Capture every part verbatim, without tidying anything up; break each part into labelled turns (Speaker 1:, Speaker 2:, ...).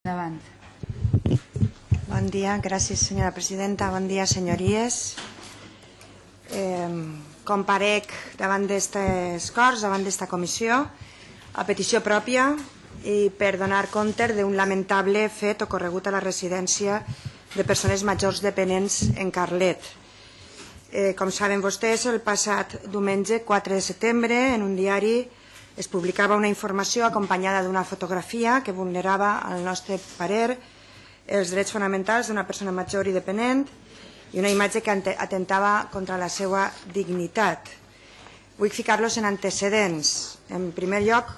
Speaker 1: Endavant.
Speaker 2: Bon dia, gràcies senyora presidenta, bon dia senyories. Eh, comparec davant d'aquestes Corts, davant d'esta comissió, a petició pròpia i per donar compte d'un lamentable fet ocorregut a la residència de persones majors dependents en Carlet. Eh, com saben vostès, el passat diumenge quatre de setembre en un diari es publicava una informació acompanyada d'una fotografia que vulnerava, al nostre parer, els drets fonamentals d'una persona major i dependent i una imatge que atentava contra la seva dignitat. Vull ficar-los en antecedents. En primer lloc,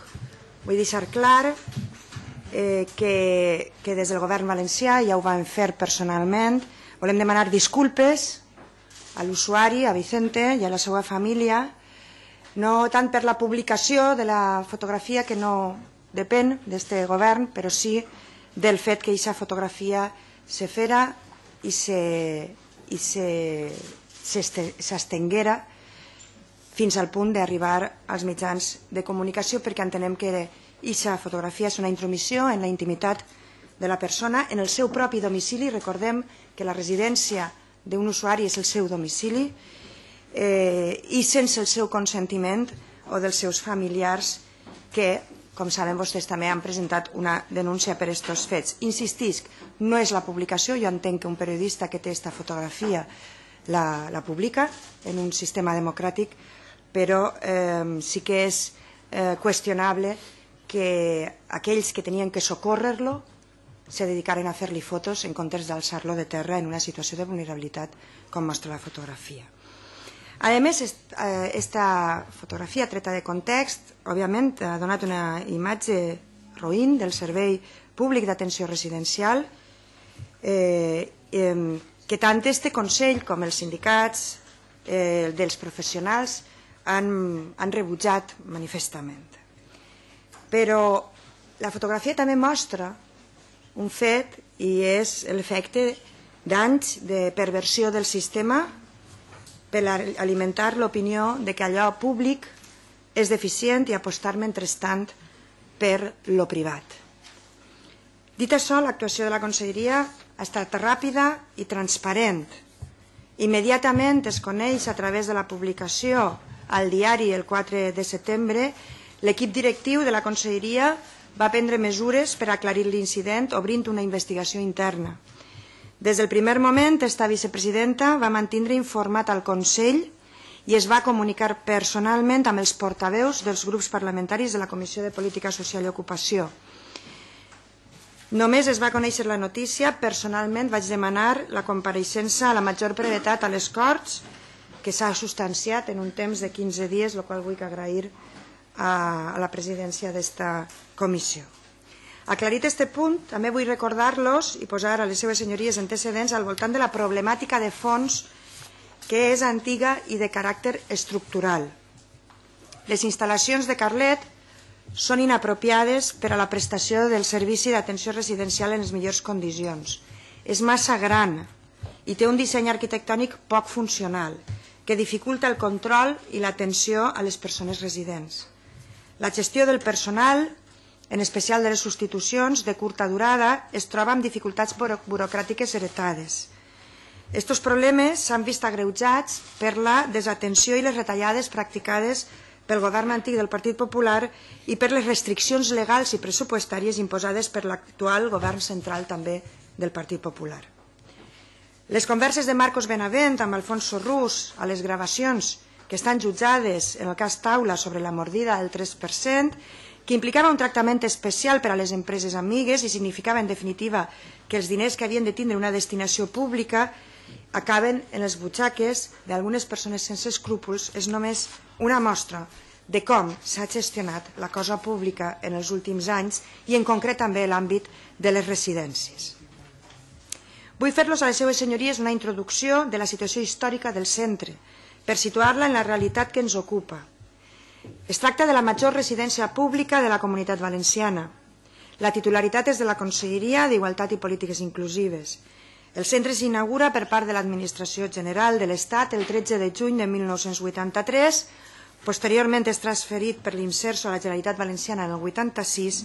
Speaker 2: vull deixar clar eh, que, que des del govern valencià, ja ho vam fer personalment, volem demanar disculpes a l'usuari, a Vicente i a la seva família, no tant per la publicació de la fotografia, que no depèn d'aquest govern, però sí del fet que aquesta fotografia se fera i s'estenguera fins al punt d'arribar als mitjans de comunicació, perquè entenem que aquesta fotografia és una intromissió en la intimitat de la persona, en el seu propi domicili. Recordem que la residència d'un usuari és el seu domicili, Eh, i sense el seu consentiment o dels seus familiars que, com saben vostès, també han presentat una denúncia per aquests fets. Insistisc, no és la publicació, jo entenc que un periodista que té aquesta fotografia la, la publica en un sistema democràtic, però eh, sí que és eh, qüestionable que aquells que tenien que socórrer-lo se dedicaren a fer-li fotos en comptes d'alçar-lo de terra en una situació de vulnerabilitat com mostra la fotografia. A més, aquesta fotografia treta de context, òbviament, ha donat una imatge roïn del servei públic d'atenció residencial que tant este Consell com els sindicats dels professionals han rebutjat manifestament. Però la fotografia també mostra un fet i és l'efecte d'anys de perversió del sistema per alimentar l'opinió de que allò públic és deficient i apostar mentrestant per lo privat. Dit això, l'actuació de la Conselleria ha estat ràpida i transparent. Immediatament es coneix a través de la publicació al diari el quatre de setembre, l'equip directiu de la Conselleria va prendre mesures per aclarir l'incident obrint una investigació interna. Des del primer moment, esta vicepresidenta va mantindre informat al Consell i es va comunicar personalment amb els portaveus dels grups parlamentaris de la Comissió de Política Social i Ocupació. Només es va conèixer la notícia, personalment vaig demanar la compareixença a la major brevetat a les Corts, que s'ha substanciat en un temps de quinze dies, el qual vull agrair a la presidència d'esta comissió. Aclarit aquest punt, també vull recordar-los i posar a les seves senyories antecedents al voltant de la problemàtica de fons que és antiga i de caràcter estructural. Les instal·lacions de Carlet són inapropiades per a la prestació del servici d'atenció residencial en les millors condicions. És massa gran i té un disseny arquitectònic poc funcional que dificulta el control i l'atenció a les persones residents. La gestió del personal, en especial de les substitucions de curta durada, es troba amb dificultats burocràtiques heretades. Estos problemes s'han vist agreujats per la desatenció i les retallades practicades pel govern antic del Partit Popular i per les restriccions legals i pressupostàries imposades per l'actual govern central també del Partit Popular. Les converses de Marcos Benavent amb Alfonso Rus a les gravacions que estan jutjades en el cas Taula sobre la mordida del tres per cent, que implicava un tractament especial per a les empreses amigues i significava, en definitiva, que els diners que havien de tindre una destinació pública acaben en les butxaques d'algunes persones sense escrúpols, és només una mostra de com s'ha gestionat la cosa pública en els últims anys i en concret també l'àmbit de les residències. Vull fer-los a les seves senyories una introducció de la situació històrica del centre per situar-la en la realitat que ens ocupa. Es tracta de la major residència pública de la Comunitat Valenciana. La titularitat és de la Conselleria d'Igualtat i Polítiques Inclusives. El centre s'inaugura per part de l'Administració General de l'Estat el tretze de juny de mil nou-cents vuitanta-tres Posteriorment és transferit per l'Imserso a la Generalitat Valenciana en el vuitanta-sis,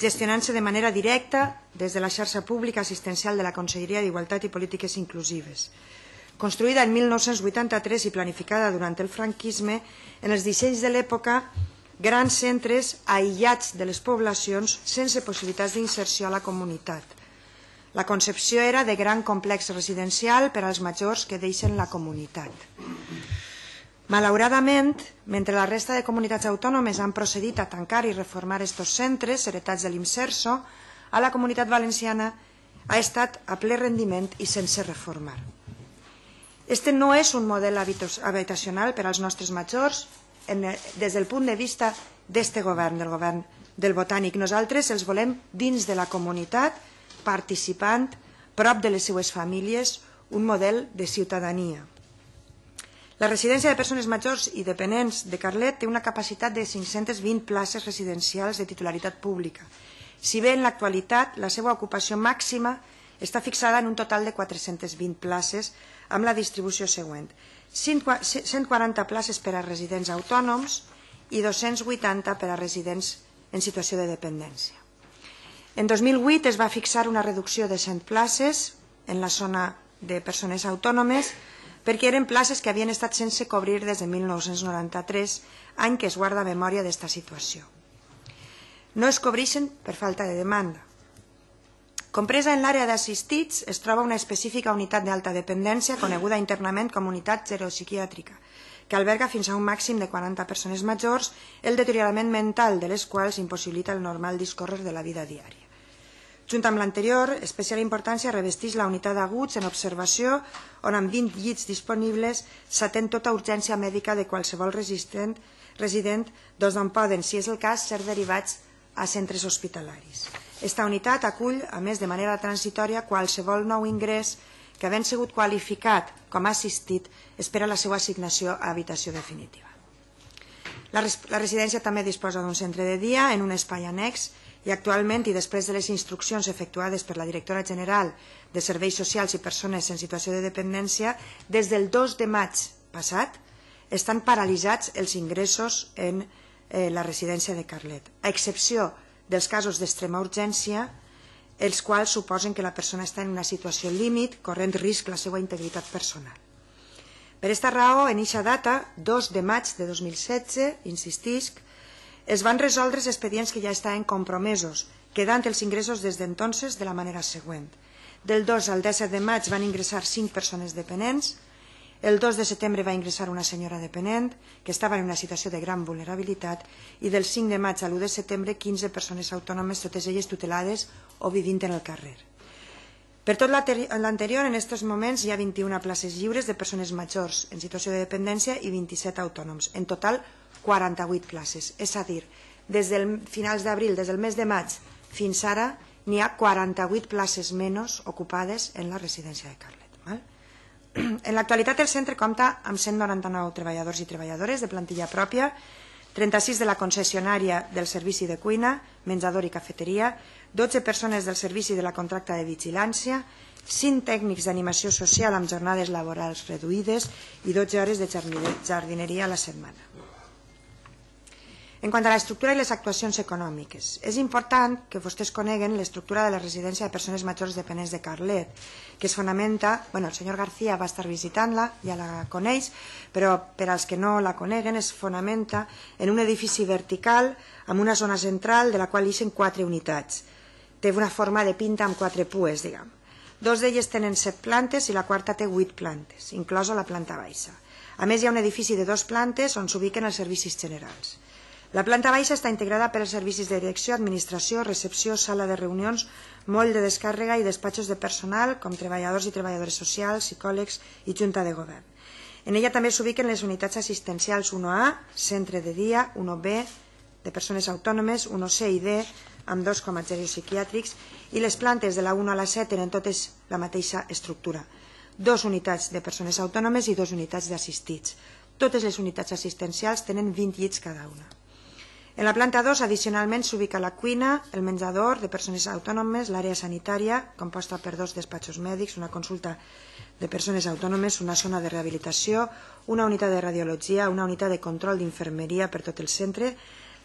Speaker 2: gestionant-se de manera directa des de la xarxa pública assistencial de la Conselleria d'Igualtat i Polítiques Inclusives. Construïda en mil nou-cents vuitanta-tres i planificada durant el franquisme, en els dissenys de l'època, grans centres aïllats de les poblacions sense possibilitats d'inserció a la comunitat. La concepció era de gran complex residencial per als majors que deixen la comunitat. Malauradament, mentre la resta de comunitats autònomes han procedit a tancar i reformar estos centres heretats de l'Imserso, a la comunitat valenciana ha estat a ple rendiment i sense reformar. Este no és un model habitacional per als nostres majors des del punt de vista d'este govern, del govern del Botànic. Nosaltres els volem dins de la comunitat, participant, prop de les seues famílies, un model de ciutadania. La residència de persones majors i dependents de Carlet té una capacitat de cinc-centes vint places residencials de titularitat pública, si bé en l'actualitat la seva ocupació màxima està fixada en un total de quatre-centes vint places amb la distribució següent: cent quaranta places per a residents autònoms i dos-cents vuitanta per a residents en situació de dependència. En dos mil vuit es va fixar una reducció de cent places en la zona de persones autònomes perquè eren places que havien estat sense cobrir des de mil nou-cents noranta-tres, any que es guarda memòria d'esta situació. No es cobreixen per falta de demanda. Compresa en l'àrea d'assistits es troba una específica unitat d'alta dependència coneguda internament com unitat geropsiquiàtrica, que alberga fins a un màxim de quaranta persones majors, el deteriorament mental de les quals impossibilita el normal discórrer de la vida diària. Junt amb l'anterior, especial importància revesteix la unitat d'aguts en observació, on amb vint llits disponibles s'atén tota urgència mèdica de qualsevol resident, doncs d'on poden, si és el cas, ser derivats a centres hospitalaris. Esta unitat acull, a més de manera transitòria, qualsevol nou ingrés que, havent sigut qualificat com a assistit, espera la seva assignació a habitació definitiva. La residència també disposa d'un centre de dia en un espai annex i actualment, i després de les instruccions efectuades per la directora general de Serveis Socials i Persones en Situació de Dependència, des del dos de maig passat estan paralitzats els ingressos en la residència de Carlet, a excepció dels casos d'extrema urgència, els quals suposen que la persona està en una situació límit, corrent risc la seva integritat personal. Per aquesta raó, en eixa data, dos de maig de dos mil setze, insistisc, es van resoldre els expedients que ja estaven compromesos, quedant els ingressos des d'entonces de la manera següent. Del dos al disset de maig van ingressar cinc persones dependents, el dos de setembre va ingressar una senyora dependent que estava en una situació de gran vulnerabilitat i del cinc de maig a l'u de setembre quinze persones autònomes, totes elles tutelades o vivint en el carrer. Per tot l'anterior, en aquests moments hi ha vint-i-una places lliures de persones majors en situació de dependència i vint-i-set autònoms. En total, quaranta-vuit places. És a dir, des del finals d'abril, des del mes de maig fins ara, n'hi ha quaranta-vuit places menys ocupades en la residència de Carlet. En l'actualitat el centre compta amb cent noranta-nou treballadors i treballadores de plantilla pròpia, trenta-sis de la concessionària del servici de cuina, menjador i cafeteria, dotze persones del servici de la contracta de vigilància, cinc tècnics d'animació social amb jornades laborals reduïdes i dotze hores de jardineria a la setmana. En quant a l'estructura i les actuacions econòmiques, és important que vostès coneguen l'estructura de la residència de persones majors dependents de Carlet, que es fonamenta, bueno, el senyor García va estar visitant-la, ja la coneix, però per als que no la coneguen es fonamenta en un edifici vertical amb una zona central de la qual ixen quatre unitats. Té una forma de pinta amb quatre pues, diguem. Dos d'elles tenen set plantes i la quarta té vuit plantes, inclosa la planta baixa. A més, hi ha un edifici de dues plantes on s'ubiquen els servicis generals. La planta baixa està integrada per els servicis de direcció, administració, recepció, sala de reunions, moll de descàrrega i despatxos de personal, com treballadors i treballadores socials, psicòlegs i junta de govern. En ella també s'ubiquen les unitats assistencials u A, centre de dia, u B, de persones autònomes, u C i D, amb dos com a geropsiquiàtrics, i les plantes de la u a la set tenen totes la mateixa estructura. Dos unitats de persones autònomes i dos unitats d'assistits. Totes les unitats assistencials tenen vint llits cada una. En la planta dos, addicionalment, s'ubica la cuina, el menjador de persones autònomes, l'àrea sanitària, composta per dos despatxos mèdics, una consulta de persones autònomes, una zona de rehabilitació, una unitat de radiologia, una unitat de control d'infermeria per tot el centre,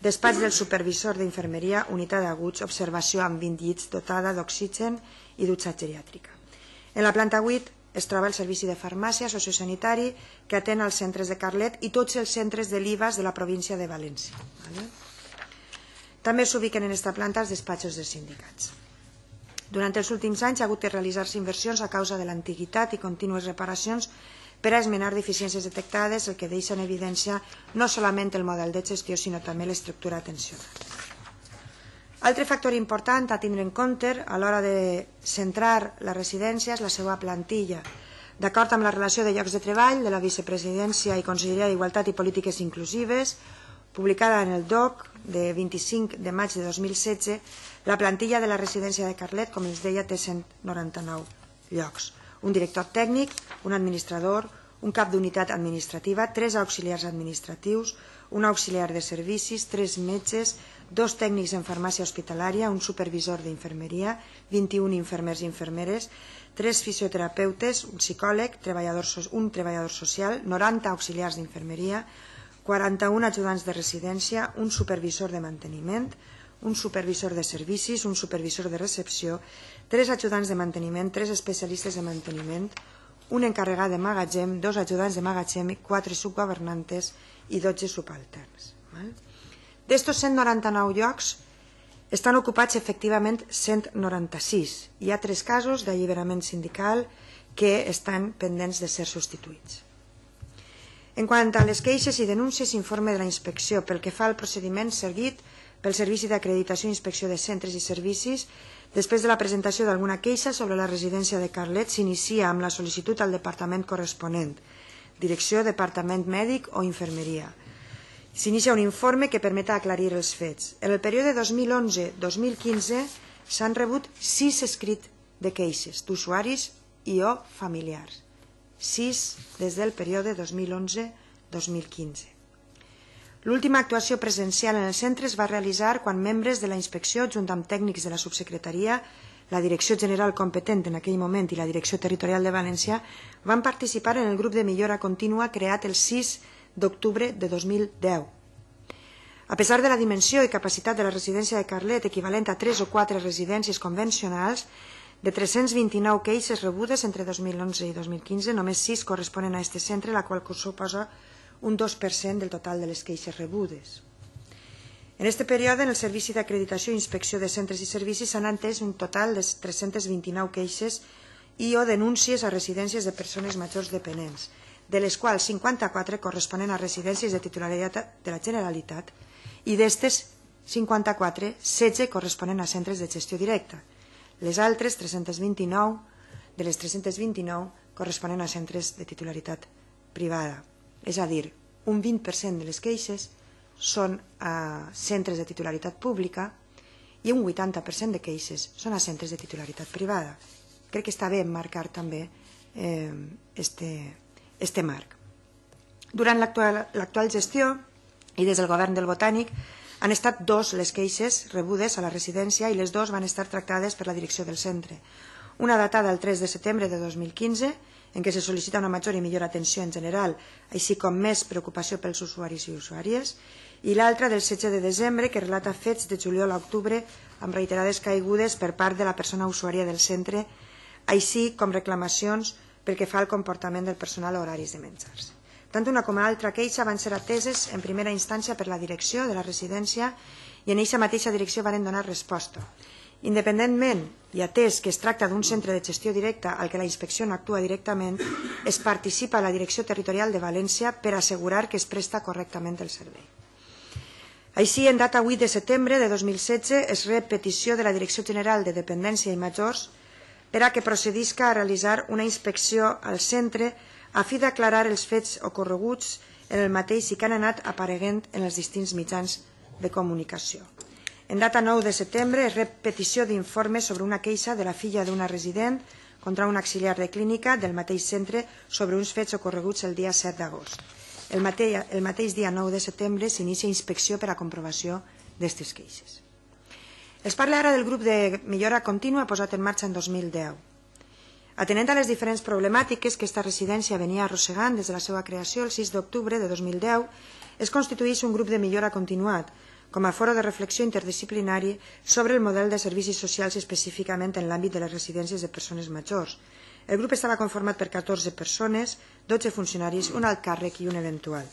Speaker 2: despatx del supervisor d'infermeria, unitat d'aguts, observació amb vint llits dotada d'oxigen i dutxa geriàtrica. En la planta vuit es troba el servici de farmàcia sociosanitari que atén als centres de Carlet i tots els centres de l'I V A S de la província de València. També s'ubiquen en aquesta planta els despatxos dels sindicats. Durant els últims anys ha hagut de realitzar-se inversions a causa de l'antiguitat i contínues reparacions per a esmenar deficiències detectades, el que deixa en evidència no solament el model de gestió, sinó també l'estructura tensional. Altre factor important a tindre en compte a l'hora de centrar la residència és la seva plantilla. D'acord amb la relació de llocs de treball de la Vicepresidència i Conselleria d'Igualtat i Polítiques Inclusives, publicada en el D O C de vint-i-cinc de maig de dos mil setze, la plantilla de la residència de Carlet, com els deia, té cent noranta-nou llocs. Un director tècnic, un administrador, un cap d'unitat administrativa, tres auxiliars administratius, un auxiliar de servicis, tres metges, dos tècnics en farmàcia hospitalària, un supervisor d'infermeria, vint-i-un infermers i infermeres, tres fisioterapeutes, un psicòleg, un treballador social, noranta auxiliars d'infermeria, quaranta-un ajudants de residència, un supervisor de manteniment, un supervisor de servicis, un supervisor de recepció, tres ajudants de manteniment, tres especialistes de manteniment, un encarregat de magatzem, dos ajudants de magatzem, quatre subgovernantes i dotze subalterns. D'estos cent noranta-nou llocs estan ocupats efectivament cent noranta-sis. Hi ha tres casos d'alliberament sindical que estan pendents de ser substituïts. En quant a les queixes i denúncies, informe de la inspecció pel que fa al procediment seguit pel Servici d'Acreditació i Inspecció de Centres i Servicis. Després de la presentació d'alguna queixa sobre la residència de Carlet, s'inicia amb la sol·licitud al departament corresponent, direcció, departament mèdic o infermeria. S'inicia un informe que permet aclarir els fets. En el període dos mil onze dos mil quinze s'han rebut sis escrits de queixes d'usuaris i o familiars. Sis des del període dos mil onze dos mil quinze. L'última actuació presencial en el centre es va realitzar quan membres de la inspecció, junt amb tècnics de la subsecretaria, la Direcció General competent en aquell moment i la Direcció Territorial de València, van participar en el grup de millora contínua creat el sis d'octubre de dos mil deu. A pesar de la dimensió i capacitat de la residència de Carlet, equivalent a tres o quatre residències convencionals, de tres-cents vint-i-nou queixes rebudes entre dos mil onze i dos mil quinze, només sis corresponen a aquest centre, la qual suposa un dos per cent del total de les queixes rebudes. En aquest període, en el Servici d'Acreditació i Inspecció de Centres i Servicis s'han entès un total de tres-centes vint-i-nou queixes i o denúncies a residències de persones majors dependents, de les quals cinquanta-quatre corresponen a residències de titularitat de la Generalitat i d'estes cinquanta-quatre, setze corresponen a centres de gestió directa. Les altres, tres-centes vint-i-nou, de les tres-centes vint-i-nou, corresponen a centres de titularitat privada. És a dir, un vint per cent de les queixes són a centres de titularitat pública i un vuitanta per cent de queixes són a centres de titularitat privada. Crec que està bé marcar també este marc. Durant l'actual gestió i des del govern del Botànic han estat dos les queixes rebudes a la residència i les dues van estar tractades per la direcció del centre. Una datada el tres de setembre de dos mil quinze, en què se sol·licita una major i millor atenció en general, així com més preocupació pels usuaris i usuàries, i l'altra del setze de desembre, que relata fets de juliol a octubre amb reiterades caigudes per part de la persona usuària del centre, així com reclamacions pel que fa al comportament del personal a horaris de menjars. Tant una com l'altra queixa van ser ateses en primera instància per la direcció de la residència i en aquesta mateixa direcció van donar resposta. Independentment i atès que es tracta d'un centre de gestió directa al que la inspecció no actua directament, es participa a la Direcció Territorial de València per assegurar que es presta correctament el servei. Així, en data vuit de setembre de dos mil setze, es rep petició de la Direcció General de Dependència i Majors per a que procedisca a realitzar una inspecció al centre a fi d'aclarar els fets ocorreguts en el mateix i que han anat apareguent en els distints mitjans de comunicació. En data nou de setembre es rep petició d'informe sobre una queixa de la filla d'una resident contra un auxiliar de clínica del mateix centre sobre uns fets ocorreguts el dia set d'agost. El mateix, el mateix dia nou de setembre s'inicia inspecció per a comprovació d'aquestes queixes. Es parla ara del grup de millora contínua posat en marxa en dos mil deu. Atenent a les diferents problemàtiques que aquesta residència venia arrossegant des de la seva creació el sis d'octubre de dos mil deu, es constitueix un grup de millora continuat com a foro de reflexió interdisciplinari sobre el model de servicis socials específicament en l'àmbit de les residències de persones majors. El grup estava conformat per catorze persones, dotze funcionaris, un alt càrrec i un eventual.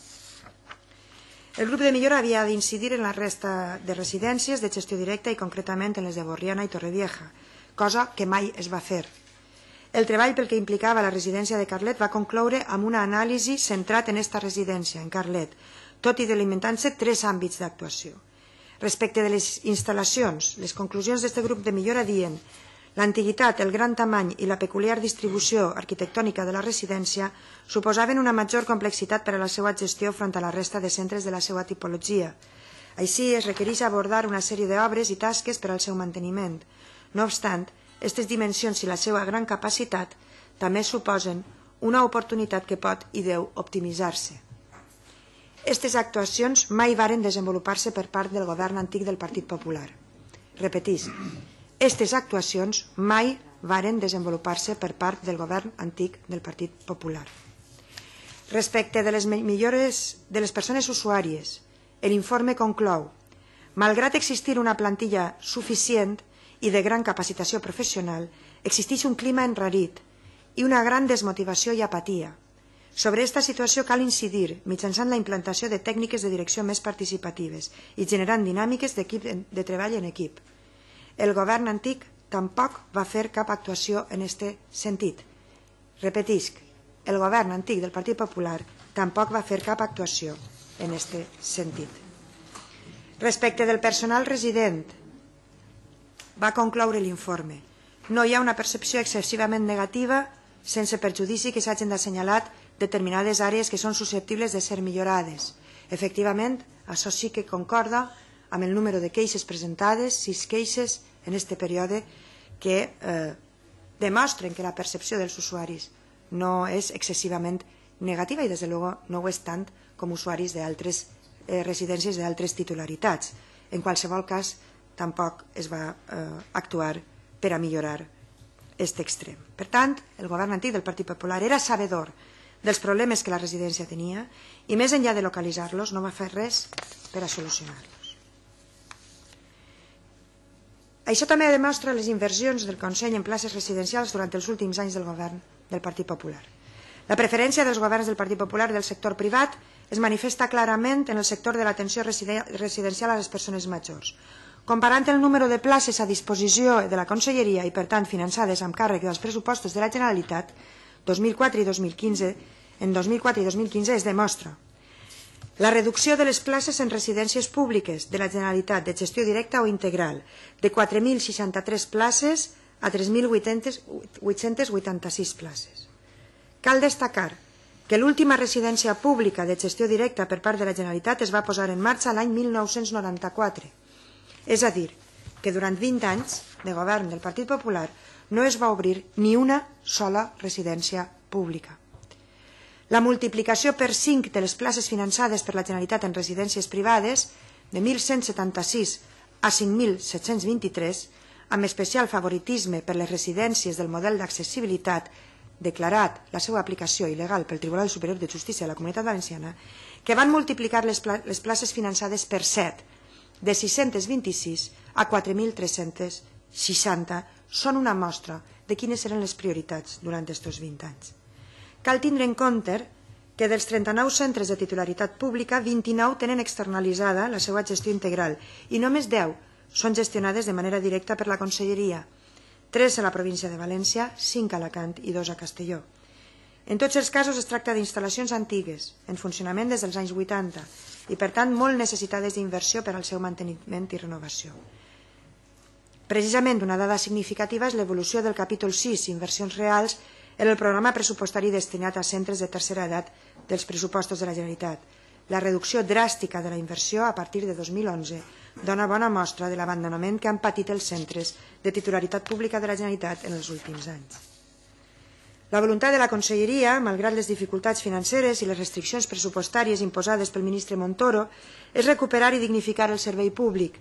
Speaker 2: El grup de millora havia d'incidir en la resta de residències de gestió directa i concretament en les de Borriana i Torrevieja, cosa que mai es va fer. El treball pel que implicava la residència de Carlet va concloure amb una anàlisi centrat en aquesta residència, en Carlet, tot i delimitant-se tres àmbits d'actuació. Respecte de les instal·lacions, les conclusions d'aquest grup de millora diuen l'antiguitat, el gran tamany i la peculiar distribució arquitectònica de la residència suposaven una major complexitat per a la seva gestió front a la resta de centres de la seva tipologia. Així, es requereix abordar una sèrie d'obres i tasques per al seu manteniment. No obstant, aquestes dimensions i la seva gran capacitat també suposen una oportunitat que pot i deu optimitzar-se. Aquestes actuacions mai varen desenvolupar-se per part del govern antic del Partit Popular. Repetís, aquestes actuacions mai varen desenvolupar-se per part del govern antic del Partit Popular. Respecte de les millores de les persones usuàries, l'informe conclou: malgrat existir una plantilla suficient i de gran capacitació professional, existeix un clima enrarit i una gran desmotivació i apatia. Sobre aquesta situació cal incidir mitjançant la implantació de tècniques de direcció més participatives i generant dinàmiques de treball en equip. El govern antic tampoc va fer cap actuació en aquest sentit. Repetisc, el govern antic del Partit Popular tampoc va fer cap actuació en aquest sentit. Respecte del personal resident, va concloure l'informe. No hi ha una percepció excessivament negativa sense perjudici que s'hagin d'assenyalar determinades àrees que són susceptibles de ser millorades. Efectivament, això sí que concorda amb el número de queixes presentades, sis queixes en aquest període, que eh, demostren que la percepció dels usuaris no és excessivament negativa i, des de luego, no ho és tant com usuaris d'altres eh, residències d'altres titularitats. En qualsevol cas, tampoc es va eh, actuar per a millorar aquest extrem. Per tant, el govern antic del Partit Popular era sabedor dels problemes que la residència tenia i, més enllà de localitzar-los, no va fer res per a solucionar-los. Això també demostra les inversions del Consell en places residencials durant els últims anys del govern del Partit Popular. La preferència dels governs del Partit Popular del sector privat es manifesta clarament en el sector de l'atenció residencial a les persones majors. Comparant el número de places a disposició de la Conselleria i, per tant, finançades amb càrrec dels pressupostos de la Generalitat, dos mil quatre i dos mil quinze, en dos mil quatre i dos mil quinze es demostra la reducció de les places en residències públiques de la Generalitat de gestió directa o integral de quatre mil seixanta-tres places a tres mil vuit-cents vuitanta-sis places. Cal destacar que l'última residència pública de gestió directa per part de la Generalitat es va posar en marxa l'any mil nou-cents noranta-quatre. És a dir, que durant vint anys de govern del Partit Popular no es va obrir ni una sola residència pública. La multiplicació per cinc de les places finançades per la Generalitat en residències privades, de mil cent setanta-sis a cinc mil set-cents vint-i-tres, amb especial favoritisme per les residències del model d'accessibilitat declarat la seva aplicació il·legal pel Tribunal Superior de Justícia de la Comunitat Valenciana, que van multiplicar les, pla les places finançades per set, de sis-cents vint-i-sis a quatre mil tres-cents seixanta, són una mostra de quines eren les prioritats durant aquests vint anys. Cal tindre en compte que dels trenta-nou centres de titularitat pública, vint-i-nou tenen externalitzada la seva gestió integral i només deu són gestionades de manera directa per la Conselleria, tres a la província de València, cinc a Alacant i dos a Castelló. En tots els casos es tracta d'instal·lacions antigues, en funcionament des dels anys vuitanta, i per tant molt necessitades d'inversió per al seu manteniment i renovació. Precisament una dada significativa és l'evolució del capítol sis, inversions reals, en el programa pressupostari destinat a centres de tercera edat dels pressupostos de la Generalitat. La reducció dràstica de la inversió a partir de dos mil onze dona bona mostra de l'abandonament que han patit els centres de titularitat pública de la Generalitat en els últims anys. La voluntat de la Conselleria, malgrat les dificultats financeres i les restriccions pressupostàries imposades pel ministre Montoro, és recuperar i dignificar el servei públic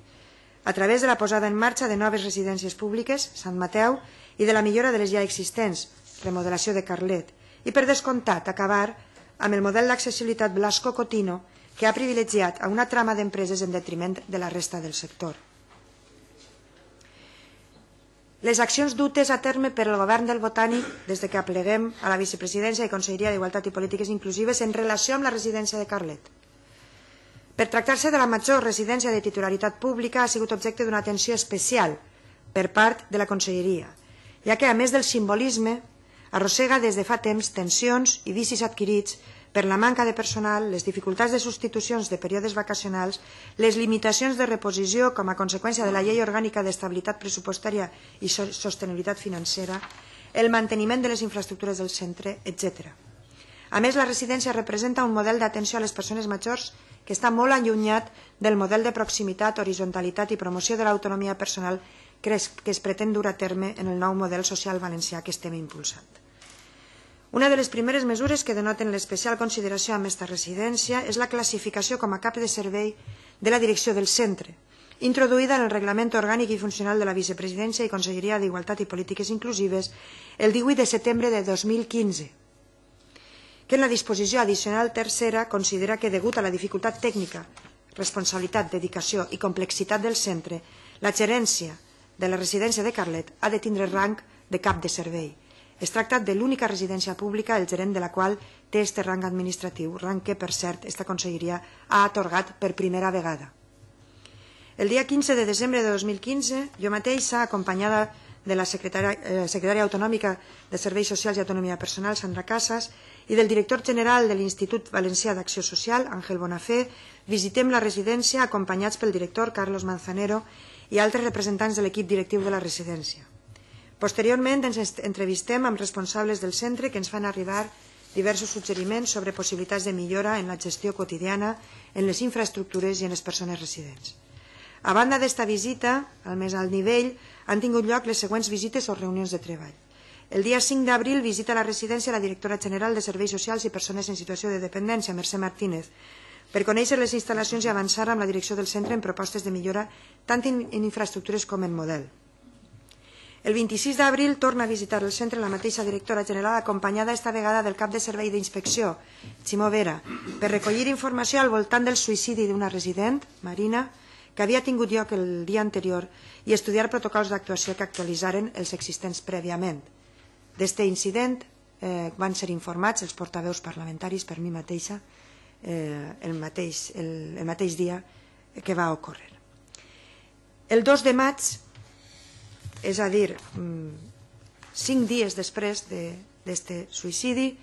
Speaker 2: a través de la posada en marxa de noves residències públiques, Sant Mateu, i de la millora de les ja existents, remodelació de Carlet, i per descomptat acabar amb el model d'accessibilitat Blasco-Cotino que ha privilegiat a una trama d'empreses en detriment de la resta del sector. Les accions dutes a terme per el govern del Botànic des de que apleguem a la Vicepresidència i Conselleria d'Igualtat i Polítiques Inclusives en relació amb la residència de Carlet. Per tractar-se de la major residència de titularitat pública ha sigut objecte d'una atenció especial per part de la Conselleria, ja que a més del simbolisme arrossega des de fa temps tensions i vicis adquirits per la manca de personal, les dificultats de substitucions de períodes vacacionals, les limitacions de reposició com a conseqüència de la Llei Orgànica d'Estabilitat Pressupostària i Sostenibilitat Financera, el manteniment de les infraestructures del centre, etcètera. A més, la residència representa un model d'atenció a les persones majors que està molt allunyat del model de proximitat, horizontalitat i promoció de l'autonomia personal que es, que es pretén dur a terme en el nou model social valencià que estem impulsant. Una de les primeres mesures que denoten l'especial consideració amb aquesta residència és la classificació com a cap de servei de la direcció del centre, introduïda en el Reglament Orgànic i Funcional de la Vicepresidència i Conselleria d'Igualtat i Polítiques Inclusives el divuit de setembre de dos mil quinze, que en la disposició addicional tercera considera que, degut a la dificultat tècnica, responsabilitat, dedicació i complexitat del centre, la gerència de la residència de Carlet ha de tindre rang de cap de servei. Es tracta de l'única residència pública, el gerent de la qual té este rang administratiu, rang que, per cert, esta Conselleria ha atorgat per primera vegada. El dia quinze de desembre de dos mil quinze, jo mateixa, acompanyada de la secretària, eh, secretària autonòmica de Serveis Socials i Autonomia Personal, Sandra Casas, i del director general de l'Institut Valencià d'Acció Social, Àngel Bonafé, visitem la residència acompanyats pel director Carlos Manzanero i altres representants de l'equip directiu de la residència. Posteriorment ens entrevistem amb responsables del centre que ens fan arribar diversos suggeriments sobre possibilitats de millora en la gestió quotidiana, en les infraestructures i en les persones residents. A banda d'esta visita, al més alt nivell, han tingut lloc les següents visites o reunions de treball. El dia cinc d'abril visita a la residència la directora general de Serveis Socials i Persones en Situació de Dependència, Mercè Martínez, per conèixer les instal·lacions i avançar amb la direcció del centre en propostes de millora tant en infraestructures com en model. El vint-i-sis d'abril torna a visitar el centre la mateixa directora general acompanyada esta vegada del cap de servei d'inspecció, Ximo Vera, per recollir informació al voltant del suïcidi d'una resident, Marina, que havia tingut lloc el dia anterior i estudiar protocols d'actuació que actualitzaren els existents prèviament. D'este incident eh, van ser informats els portaveus parlamentaris per mi mateixa eh, el, mateix, el, el mateix dia que va ocórrer. El dos de maig, és a dir, cinc dies després d'aquest suïcidi,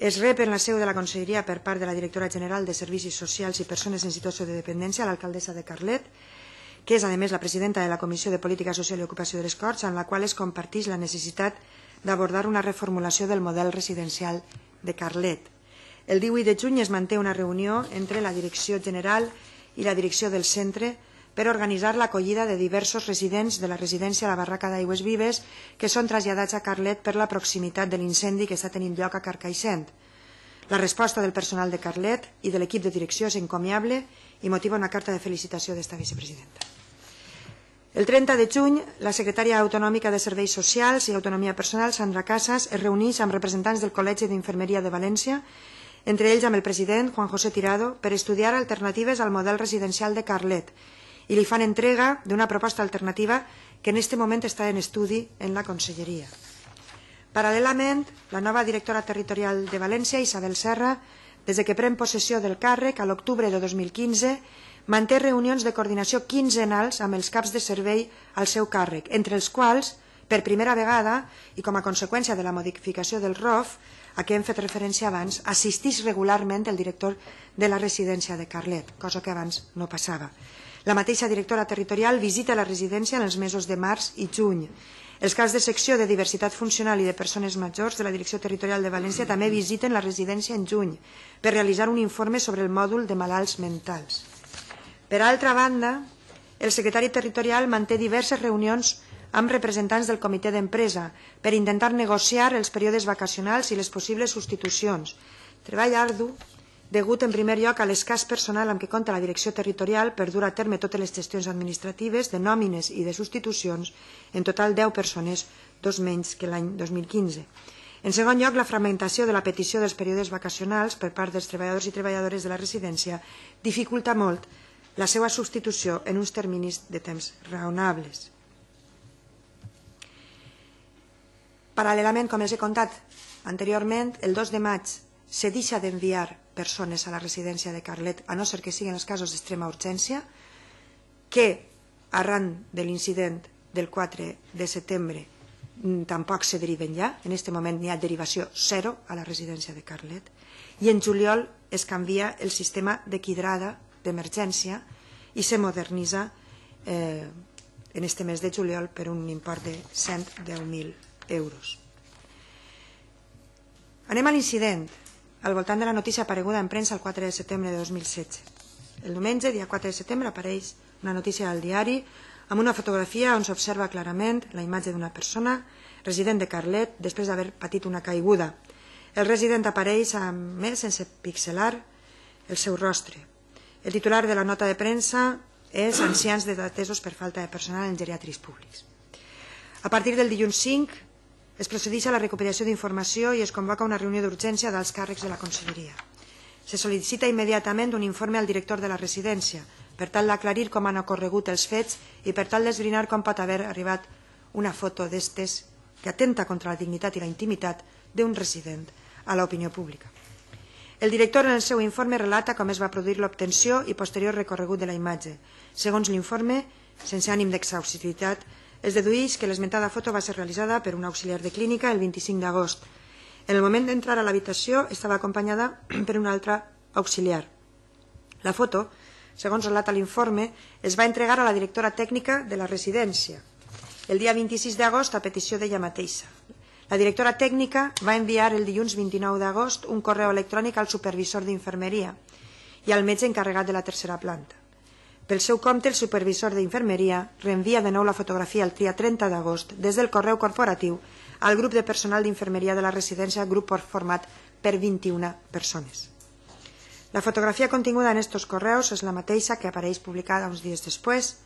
Speaker 2: es rep en la seu de la Conselleria per part de la directora general de Servicis Socials i Persones en Situació de Dependència, l'alcaldessa de Carlet, que és a més la presidenta de la Comissió de Política Social i Ocupació de les Corts, en la qual es comparteix la necessitat d'abordar una reformulació del model residencial de Carlet. El divuit de juny es manté una reunió entre la Direcció General i la direcció del centre per organitzar l'acollida de diversos residents de la residència a la Barraca d'Aigües Vives que són traslladats a Carlet per la proximitat de l'incendi que està tenint lloc a Carcaixent. La resposta del personal de Carlet i de l'equip de direcció és encomiable i motiva una carta de felicitació d'esta vicepresidenta. El trenta de juny, la secretària autonòmica de Serveis Socials i Autonomia Personal, Sandra Casas, es reuneix amb representants del Col·legi d'Infermeria de València, entre ells amb el president, Juan José Tirado, per estudiar alternatives al model residencial de Carlet, i li fan entrega d'una proposta alternativa que en aquest moment està en estudi en la Conselleria. Paral·lelament, la nova directora territorial de València, Isabel Serra, des que pren possessió del càrrec a l'octubre de dos mil quinze, manté reunions de coordinació quinzenals amb els caps de servei al seu càrrec, entre els quals, per primera vegada, i com a conseqüència de la modificació del R O F, a què hem fet referència abans, assisteix regularment el director de la residència de Carlet, cosa que abans no passava. La mateixa directora territorial visita la residència en els mesos de març i juny. Els caps de secció de diversitat funcional i de persones majors de la Direcció Territorial de València també visiten la residència en juny per realitzar un informe sobre el mòdul de malalts mentals. Per altra banda, el secretari territorial manté diverses reunions amb representants del comitè d'empresa per intentar negociar els períodes vacacionals i les possibles substitucions. Treball ardu degut en primer lloc a l'escàs personal amb què compta la direcció territorial per dur a terme totes les gestions administratives de nòmines i de substitucions, en total deu persones, dos menys que l'any dos mil quinze. En segon lloc, la fragmentació de la petició dels períodes vacacionals per part dels treballadors i treballadores de la residència dificulta molt la seva substitució en uns terminis de temps raonables. Paral·lelament, com els he contat anteriorment, el dos de maig se deixa d'enviar persones a la residència de Carlet, a no ser que siguin els casos d'extrema urgència, que arran de l'incident del quatre de setembre tampoc se deriven ja. En aquest moment n'hi ha derivació zero a la residència de Carlet. I en juliol es canvia el sistema de quidrada d'emergència i se modernitza eh, en este mes de juliol per un import de cent deu mil euros. Anem a l'incident al voltant de la notícia apareguda en premsa el quatre de setembre de dos mil setze. El diumenge, dia quatre de setembre, apareix una notícia al diari amb una fotografia on s'observa clarament la imatge d'una persona resident de Carlet després d'haver patit una caiguda. El resident apareix a més sense pixelar el seu rostre. El titular de la nota de premsa és ancians desatesos per falta de personal en geriatris públics. A partir del dilluns cinc es procedeix a la recopilació d'informació i es convoca una reunió d'urgència dels càrrecs de la Conselleria. Se sol·licita immediatament un informe al director de la residència per tal d'aclarir com han ocorregut els fets i per tal d'esbrinar com pot haver arribat una foto d'estes que atenta contra la dignitat i la intimitat d'un resident a l'opinió pública. El director en el seu informe relata com es va produir l'obtenció i posterior recorregut de la imatge. Segons l'informe, sense ànim d'exhaustivitat, es dedueix que l'esmentada foto va ser realitzada per un auxiliar de clínica el vint-i-cinc d'agost. En el moment d'entrar a l'habitació estava acompanyada per un altre auxiliar. La foto, segons relata l'informe, es va entregar a la directora tècnica de la residència el dia vint-i-sis d'agost a petició d'ella mateixa. La directora tècnica va enviar el dilluns vint-i-nou d'agost un correu electrònic al supervisor d'infermeria i al metge encarregat de la tercera planta. Pel seu compte, el supervisor d'infermeria reenvia de nou la fotografia el dia trenta d'agost des del correu corporatiu al grup de personal d'infermeria de la residència, grup format per vint-i-una persones. La fotografia continguda en estos correus és la mateixa que apareix publicada uns dies després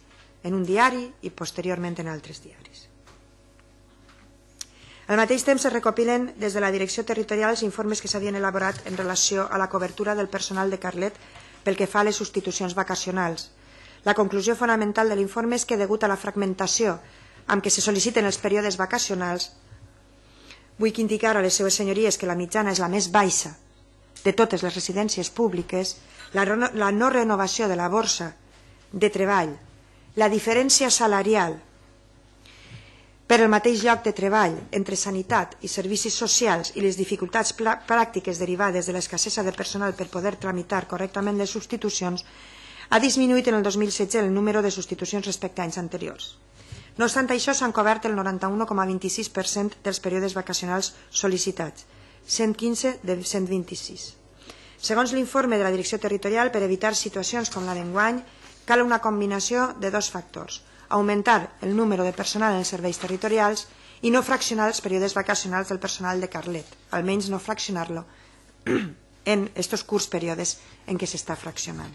Speaker 2: en un diari i posteriorment en altres diaris. Al mateix temps es recopilen des de la direcció territorial els informes que s'havien elaborat en relació a la cobertura del personal de Carlet pel que fa a les substitucions vacacionals. La conclusió fonamental de l'informe és que, degut a la fragmentació amb què se sol·liciten els períodes vacacionals, vull indicar a les seues senyories que la mitjana és la més baixa de totes les residències públiques, la no renovació de la borsa de treball, la diferència salarial per el mateix lloc de treball entre sanitat i servicis socials i les dificultats pràctiques derivades de l'escassesa de personal per poder tramitar correctament les substitucions, ha disminuït en el dos mil setze el número de substitucions respecte a anys anteriors. No obstant això, s'han cobert el noranta-u coma vint-i-sis per cent dels períodes vacacionals sol·licitats, cent quinze de cent vint-i-sis. Segons l'informe de la Direcció Territorial, per evitar situacions com la d'enguany, cal una combinació de dos factors: augmentar el número de personal en els serveis territorials i no fraccionar els períodes vacacionals del personal de Carlet, almenys no fraccionar-lo en estos curts períodes en què s'està fraccionant.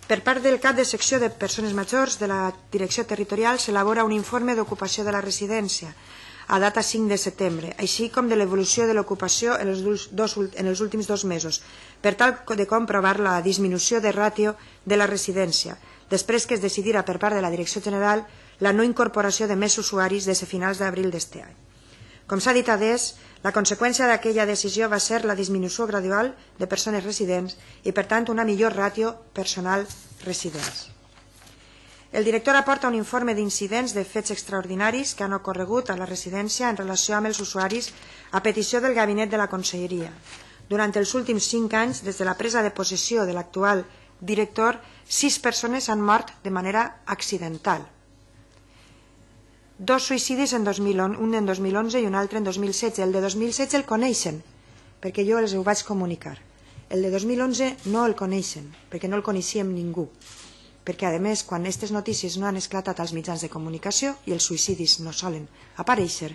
Speaker 2: Per part del cap de secció de persones majors de la Direcció Territorial s'elabora un informe d'ocupació de la residència a data cinc de setembre, així com de l'evolució de l'ocupació en, en els últims dos mesos, per tal de comprovar la disminució de ràtio de la residència, després que es decidira per part de la Direcció General la no incorporació de més usuaris des de finals d'abril d'aquest any. Com s'ha dit adés, la conseqüència d'aquella decisió va ser la disminució gradual de persones residents i, per tant, una millor ràtio personal residents. El director aporta un informe d'incidents de fets extraordinaris que han ocorregut a la residència en relació amb els usuaris a petició del gabinet de la Conselleria. Durant els últims cinc anys, des de la presa de possessió de l'actual director, sis persones han mort de manera accidental. Dos suïcidis en dos mil onze, un en dos mil onze i un altre en dos mil setze. El de dos mil setze el coneixen, perquè jo els ho vaig comunicar. El de dos mil onze no el coneixen, perquè no el coneixíem ningú. perquè a més quan aquestes notícies no han esclatat als mitjans de comunicació i els suïcidis no solen aparèixer,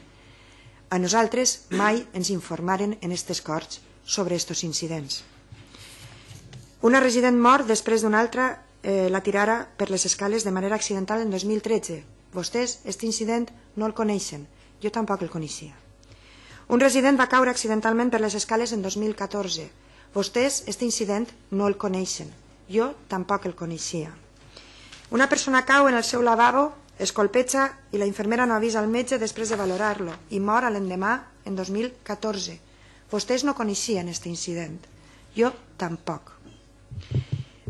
Speaker 2: a nosaltres mai ens informaren en aquestes corts sobre aquests incidents. Una resident mort després d'una altra eh, la tirara per les escales de manera accidental en dos mil tretze. Vostès, aquest incident, no el coneixen. Jo tampoc el coneixia. Un resident va caure accidentalment per les escales en dos mil catorze. Vostès, aquest incident, no el coneixen. Jo tampoc el coneixia. Una persona cau en el seu lavabo, es colpeja i la infermera no avisa al metge després de valorar-lo i mor a l'endemà en dos mil catorze. Vostès no coneixien aquest incident. Jo tampoc.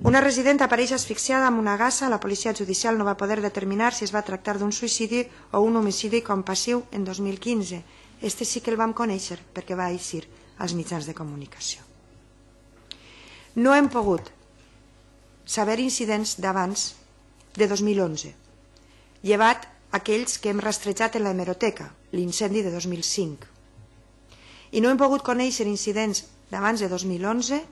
Speaker 2: Una resident apareix asfixiada amb una gassa. La policia judicial no va poder determinar si es va tractar d'un suïcidi o un homicidi compassiu en dos mil quinze. Este sí que el vam conèixer perquè va eixir als mitjans de comunicació. No hem pogut saber incidents d'abans de dos mil onze, llevat aquells que hem rastrejat en la hemeroteca, l'incendi de dos mil cinc. I no hem pogut conèixer incidents d'abans de dos mil onze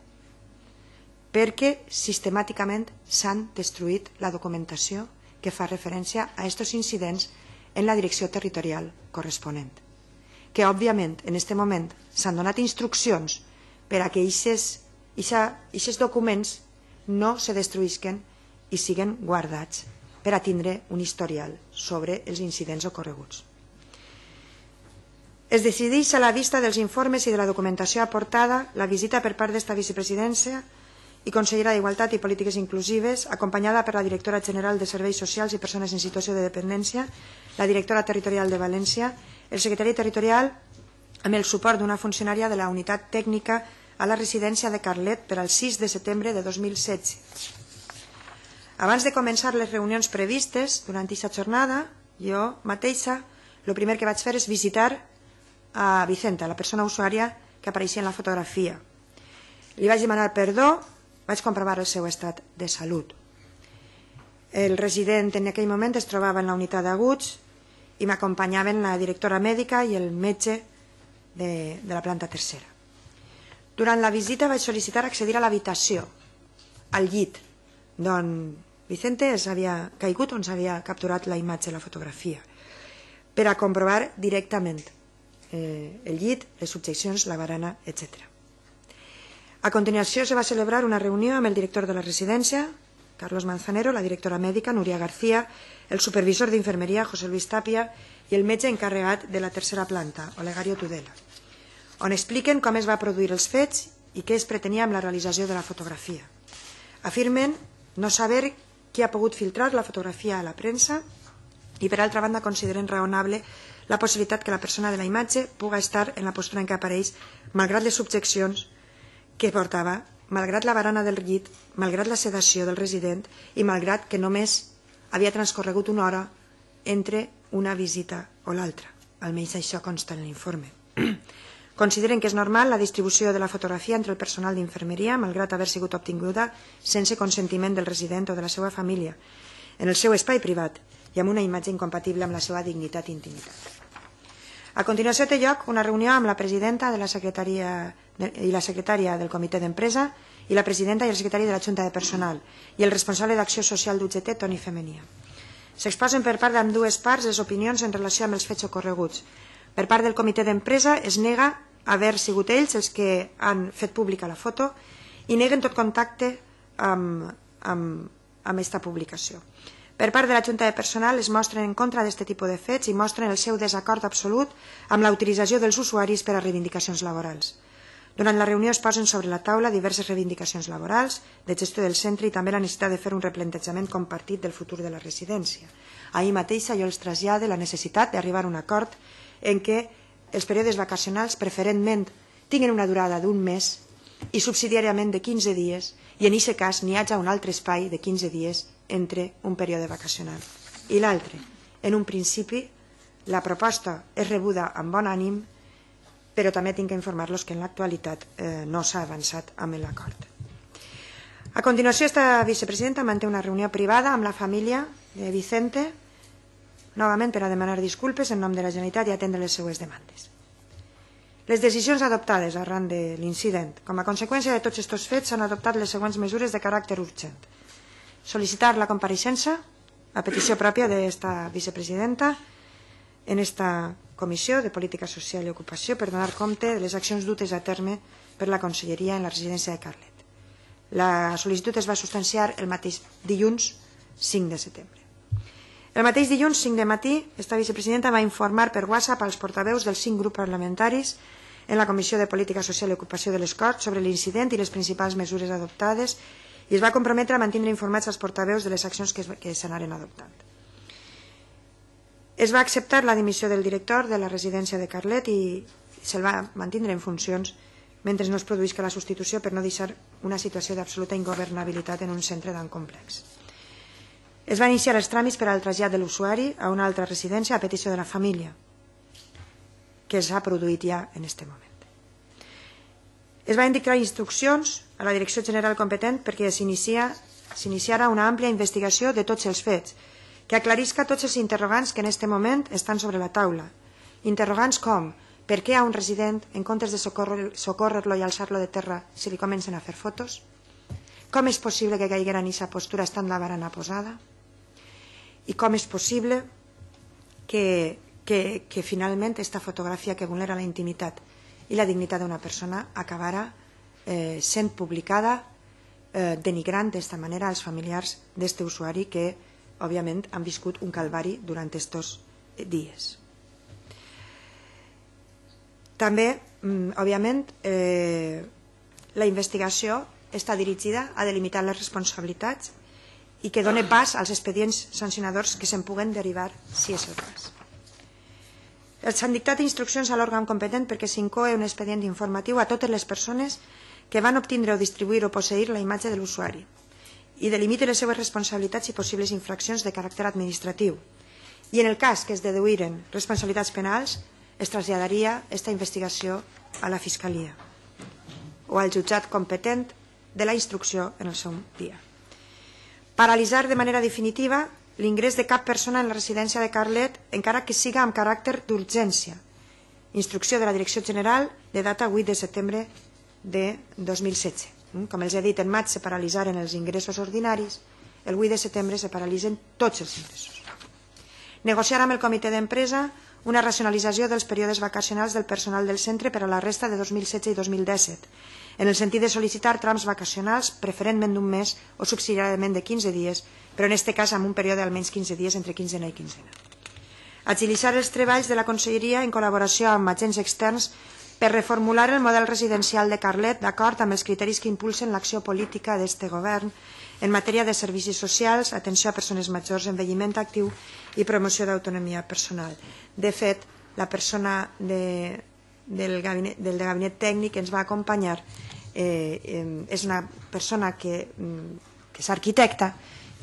Speaker 2: perquè sistemàticament s'han destruït la documentació que fa referència a aquests incidents en la direcció territorial corresponent. Que, òbviament, en aquest moment s'han donat instruccions per a que aquests documents no se destruïsquen i siguen guardats per a tindre un historial sobre els incidents ocorreguts. Es decideix a la vista dels informes i de la documentació aportada la visita per part d'esta vicepresidència i consellera d'Igualtat i Polítiques Inclusives, acompanyada per la directora general de Serveis Socials i Persones en Situació de Dependència, la directora territorial de València, el secretari territorial amb el suport d'una funcionària de la unitat tècnica a la residència de Carlet per al sis de setembre de dos mil setze. Abans de començar les reunions previstes durant aquesta jornada, jo mateixa el primer que vaig fer és visitar a Vicenta, la persona usuària que apareixia en la fotografia. Li vaig demanar perdó, vaig comprovar el seu estat de salut. El resident en aquell moment es trobava en la unitat d'aguts i m'acompanyaven la directora mèdica i el metge de, de la planta tercera. Durant la visita vaig sol·licitar accedir a l'habitació, al llit, d'on Vicente s'havia caigut, on s'havia capturat la imatge, la fotografia, per a comprovar directament eh, el llit, les subjeccions, la barana, etcètera. A continuació se va celebrar una reunió amb el director de la residència, Carlos Manzanero, la directora mèdica, Núria García, el supervisor d'infermeria, José Luis Tapia, i el metge encarregat de la tercera planta, Olegario Tudela, on expliquen com es va produir els fets i què es pretenia amb la realització de la fotografia. Afirmen no saber qui ha pogut filtrar la fotografia a la premsa i, per altra banda, consideren raonable la possibilitat que la persona de la imatge pugui estar en la postura en què apareix, malgrat les subjeccions que portava, malgrat la barana del llit, malgrat la sedació del resident i malgrat que només havia transcorregut una hora entre una visita o l'altra. Almenys això consta en l'informe. Consideren que és normal la distribució de la fotografia entre el personal d'infermeria, malgrat haver sigut obtinguda sense consentiment del resident o de la seva família, en el seu espai privat i amb una imatge incompatible amb la seva dignitat i intimitat. A continuació té lloc una reunió amb la presidenta de la secretaria i la secretària del comitè d'empresa i la presidenta i el secretari de la Junta de Personal i el responsable d'acció social d'U G T, Toni Femenia. S'exposen per part d'ambdues parts les opinions en relació amb els fets ocorreguts. Per part del comitè d'empresa es nega haver sigut ells els que han fet pública la foto i neguen tot contacte amb, amb, amb aquesta publicació. Per part de la Junta de Personal es mostren en contra d'aquest tipus de fets i mostren el seu desacord absolut amb la utilització dels usuaris per a reivindicacions laborals. Durant la reunió es posen sobre la taula diverses reivindicacions laborals, de gestió del centre i també la necessitat de fer un replantejament compartit del futur de la residència. Ahir mateixa jo els trasllade la necessitat d'arribar a un acord en què els períodes vacacionals preferentment tinguin una durada d'un mes i subsidiàriament de quinze dies i en aquest cas n'hi hagi un altre espai de quinze dies entre un període vacacional i l'altre. En un principi la proposta és rebuda amb bon ànim, però també tinc que informar-los que en l'actualitat eh, no s'ha avançat amb l'acord. A continuació, esta vicepresidenta manté una reunió privada amb la família de Vicente, novament per a demanar disculpes en nom de la Generalitat i atendre les seues demandes. Les decisions adoptades arran de l'incident. Com a conseqüència de tots aquests fets s'han adoptat les següents mesures de caràcter urgent. solicitar la compareixença a petició pròpia d'esta vicepresidenta en esta Comissió de Política Social i Ocupació per donar compte de les accions dutes a terme per la Conselleria en la residència de Carlet. La sol·licitud es va substanciar el mateix dilluns cinc de setembre. El mateix dilluns cinc de matí, esta vicepresidenta va informar per WhatsApp als portaveus dels cinc grups parlamentaris en la Comissió de Política Social i Ocupació de les Corts sobre l'incident i les principals mesures adoptades i es va comprometre a mantenir informats als portaveus de les accions que s'anaren adoptant. Es va acceptar la dimissió del director de la residència de Carlet i se'l va mantenir en funcions mentre no es produïsca la substitució per no deixar una situació d'absoluta ingovernabilitat en un centre tan complex. Es van iniciar els tràmits per al trasllat de l'usuari a una altra residència a petició de la família, que s'ha produït ja en aquest moment. Es van dictar instruccions a la Direcció General competent perquè s'iniciara una àmplia investigació de tots els fets, que aclarisca tots els interrogants que en aquest moment estan sobre la taula. Interrogants com: per què a un resident, en comptes de socórrer-lo i alçar-lo de terra, se li comencen a fer fotos? Com és possible que caiguera en aquesta postura estant la barana posada? I com és possible que, que, que finalment aquesta fotografia que vulnera la intimitat i la dignitat d'una persona acabara eh, sent publicada eh, denigrant d'esta manera als familiars d'este usuari que òbviament han viscut un calvari durant estos dies. També, òbviament, eh, la investigació està dirigida a delimitar les responsabilitats i que doni pas als expedients sancionadors que se'n puguen derivar si és el cas. S'han dictat instruccions a l'òrgan competent perquè s'incoe un expedient informatiu a totes les persones que van obtindre o distribuir o posseir la imatge de l'usuari i delimite les seves responsabilitats i possibles infraccions de caràcter administratiu. I en el cas que es deduïren responsabilitats penals, es traslladaria aquesta investigació a la Fiscalia o al jutjat competent de la instrucció en el seu dia. Paralitzar de manera definitiva l'ingrés de cap persona en la residència de Carlet, encara que siga amb caràcter d'urgència. Instrucció de la Direcció General de data vuit de setembre de dos mil setze. Com els he dit, en maig se paralitzaren els ingressos ordinaris, el vuit de setembre se paralitzen tots els ingressos. Negociar amb el comitè d'empresa una racionalització dels períodes vacacionals del personal del centre per a la resta de dos mil setze i dos mil disset, en el sentit de sol·licitar trams vacacionals preferentment d'un mes o subsidiàriament de quinze dies, però en aquest cas amb un període d'almenys quinze dies entre quinzena i quinzena. Agilitzar els treballs de la Conselleria en col·laboració amb agents externs per reformular el model residencial de Carlet d'acord amb els criteris que impulsen l'acció política d'este govern en matèria de servicis socials, atenció a persones majors, envelliment actiu i promoció d'autonomia personal. De fet, la persona de, del, gabinet, del gabinet tècnic que ens va acompanyar eh, eh, és una persona que, que és arquitecta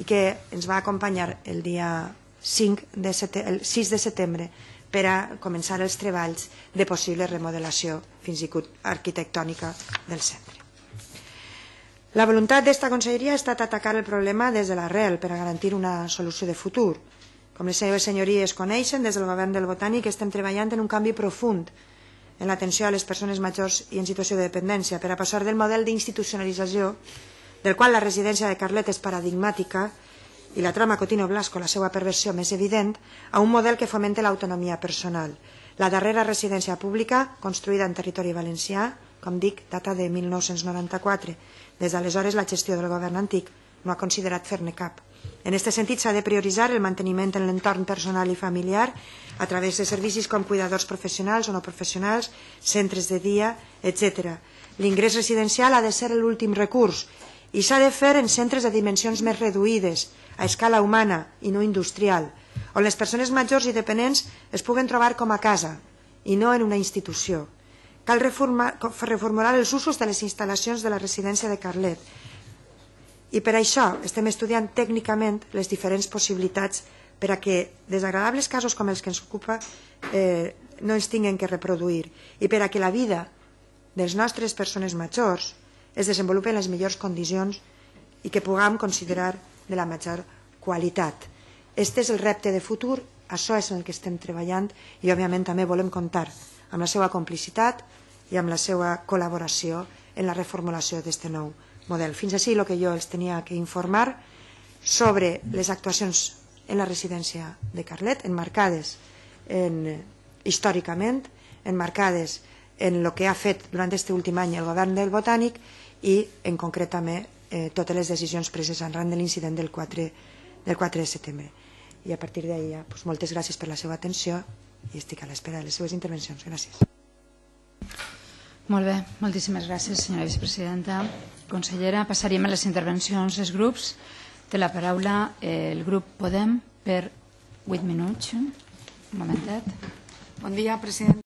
Speaker 2: i que ens va acompanyar el dia cinc de setembre, el sis de setembre per a començar els treballs de possible remodelació, fins i tot arquitectònica, del centre. La voluntat d'esta conselleria ha estat atacar el problema des de l'arrel per a garantir una solució de futur. Com les seves senyories coneixen, des del govern del Botànic estem treballant en un canvi profund en l'atenció a les persones majors i en situació de dependència per a passar del model d'institucionalització, del qual la residència de Carlet és paradigmàtica, i la trama Cotino Blasco, la seva perversió més evident, a un model que fomenta l'autonomia personal. La darrera residència pública, construïda en territori valencià, com dic, data de mil nou-cents noranta-quatre. Des d'aleshores la gestió del govern antic no ha considerat fer-ne cap. En aquest sentit s'ha de prioritzar el manteniment en l'entorn personal i familiar a través de servicis com cuidadors professionals o no professionals, centres de dia, etcètera. L'ingrés residencial ha de ser l'últim recurs i s'ha de fer en centres de dimensions més reduïdes, a escala humana i no industrial, on les persones majors i dependents es puguen trobar com a casa i no en una institució. Cal reformar, reformular els usos de les instal·lacions de la residència de Carlet i per això estem estudiant tècnicament les diferents possibilitats per a que desagradables casos com els que ens ocupa eh, no ens tinguin que reproduir i per a que la vida de les nostres persones majors es desenvolupi en les millors condicions i que puguem considerar de la major qualitat. Este és el repte de futur, això és en el que estem treballant i òbviament també volem comptar amb la seva complicitat i amb la seva col·laboració en la reformulació d'aquest nou model. Fins així el que jo els tenia que informar sobre les actuacions en la residència de Carlet, enmarcades en, històricament, enmarcades en el que ha fet durant aquest últim any el govern del Botànic i en concret també eh, totes les decisions preses arran de l'incident del quatre de setembre. I a partir d'ahir, pues, moltes gràcies per la seva atenció i estic a l'espera de les seves intervencions. Gràcies.
Speaker 1: Molt bé, moltíssimes gràcies, senyora vicepresidenta. Consellera, passaríem a les intervencions dels grups. Té la paraula el grup Podem per vuit minuts. Un momentet.
Speaker 3: Bon dia, president.